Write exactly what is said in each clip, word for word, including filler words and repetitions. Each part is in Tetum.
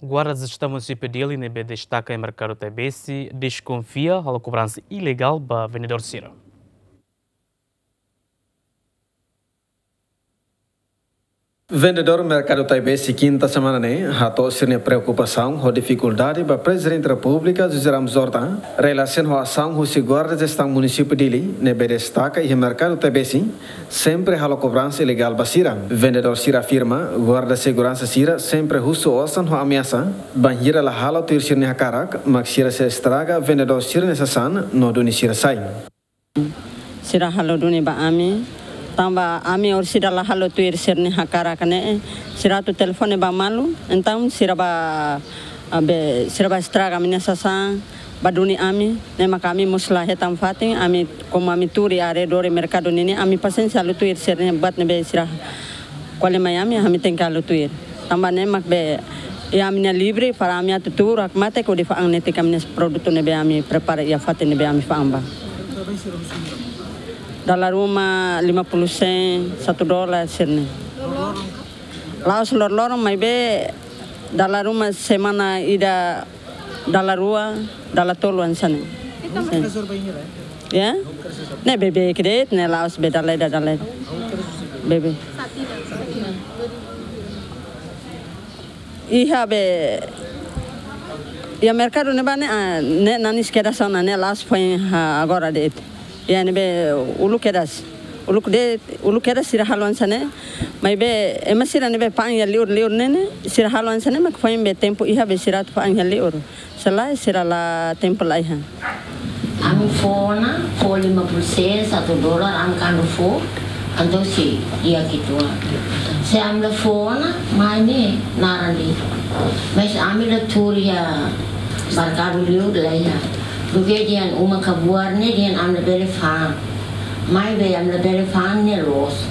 Guarda Jestaun Munisípiu Dili ne'ebé destaka iha Merkadu Taibesi deskonfia halo kobransa ilegál ba vendedór sira. Vendedór Merkadu Taibesi Kinta semana ne'e hato'o sira-nia preokupasaun ho difikuldade ba Prezidente Repúblika José Ramos Horta relasiona ho asaun husi Guarda Jestaun Munisípiu Dili ne'ebé destaka iha Merkadu Taibesi sempre halo kobransa ilegál ba sira. Vendedór sira afirma guarda seguransa sira sempre husu osan ho ameasa, bainhira la halo tuir sira-nia hakarak, mak sira sei estraga vendedór sira-nia sasán no duni sira sai. Sira halo duni ba ami, tanba ami orsida la halo tuir sira-nia hakarak ne'e, sira atu telefone ba malu, entaun sira bá, ah, be, sira bá estraga ami-nia sasán, bá duni ami, ne'e mak ami mós la hetan fatin, ami komu ami tuur iha arredór merkadu ninian, ami pasiénsia halo tuir sira-nia buat ne'ebé sira ko'alia mai ami, ami tenke halo tuir. Tanba ne'e mak be, iha ami-nia livre para ami atu tuur, hakmatek hodi fa'an netik ami-nia produtu ne'ebé ami prepara iha fatin ne'ebé ami fa'an ba. Dala ruma lima puluh sen, satu dolar sira-ne'e. La'ós loroloron maibé dala ruma semana ida dala rua, dala tolu hanesan ne'e. Sin. Ya? Ne'e beibeik de'it, ne'e la'ós be dala ida, dala ida. Beibeik. Iha be, iha merkadu ne'ebá ne'e, ah, ne'e nanis kedas ona, ne'e la'ós foin, ah, agora de'it. Iha ne'ebé uluk kedas. Uluk de'it, uluk kedas sira halo hanesan ne'e. Maibé ema sira ne'ebé fa'an iha liur-liur ne'e ne'e, sira halo hanesan ne'e mak foin be tempu iha be sira atu fa'an iha liur. Se lae sira la tempu laiha. Ami fó ona, fó lima puluh sen, satu dolar, ami kuandu fó, entaun sei di'ak uitoan. Se ami la fó ona, mai ne'e naran de'it. Mas ami la tuur iha merkadu liur laiha. Duké dehan uma kabuar ne'e dehan ami labele fa'an. Maibé ami labele fa'an ne'e loos.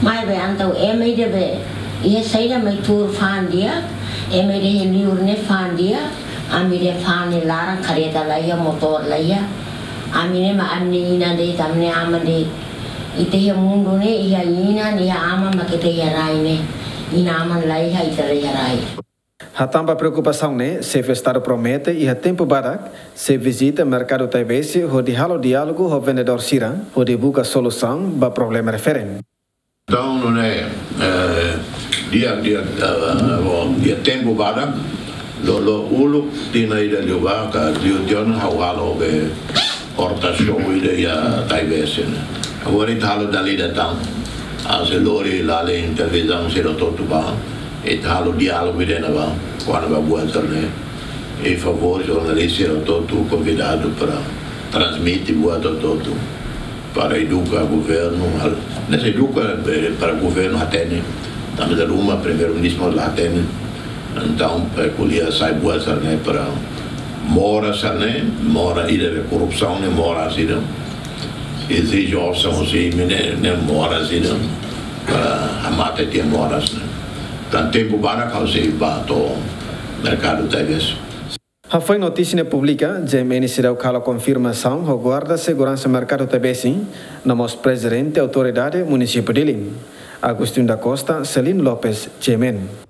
Maibé entaun ema ida be iha saida mai tuur fa'an di'ak, ema ida iha liur ne'e fa'an di'ak, ami dehan fa'an ne'e laran, kareta laiha, motór laiha. Ami ne'e mak ami-nia inan de'it, ami-nia aman de'it. Ita iha mundu ne'e iha inan, iha aman mak ita iha rai ne'e. Inan-aman laiha, ita laiha rai. Hatán ba preokupasaun ne'e, Xefe Estadu promete iha tempu badak sei vizita merkadu Taibesi hodi halo diálogu ho vendedór sira hodi buka solusaun ba problema refere. Entaun, nune'e, eh, di'ak, di'ak, eh, iha tempu badak, lo, lo uluk tinan ida liubá ka liu tiha ona ha'u halo be horta show ida iha Taibesi ne'e. Agora ita halo dala ida tan. Ha'u sei lori lalin televizaun sira hotu-hotu bá. Ita halo diálogu ida ne'ebá. Kona-ba buat sira-ne'e. I favór jornalista sira hotu-hotu konvidadu para transmite buat hotu-hotu. Para eduka governu, hal. Ne'e sei eduka, eh, para governu hatene. Tanba dala ruma Primeiru-Ministru la hatene. Entaun, eh, ko'alia sai buat sira-ne'e para moras sira-ne'e, moras ida be korrupsaun ne'e moras ida. Ezije osan husi imi ne'e, ne'e moras ida. Para hamate tiha moras ne'e. Tan tempu badak ha'u sei bá to'o merkadu Taibesi. Hafoin notísia ne'e publika, G M N seidauk halo konfirmasaun ho guarda seguransa merkadu Taibesi, no mós Prezidente Autoridade Munisípiu Dili. Agostinho da Costa, Celino Lopes, G M N.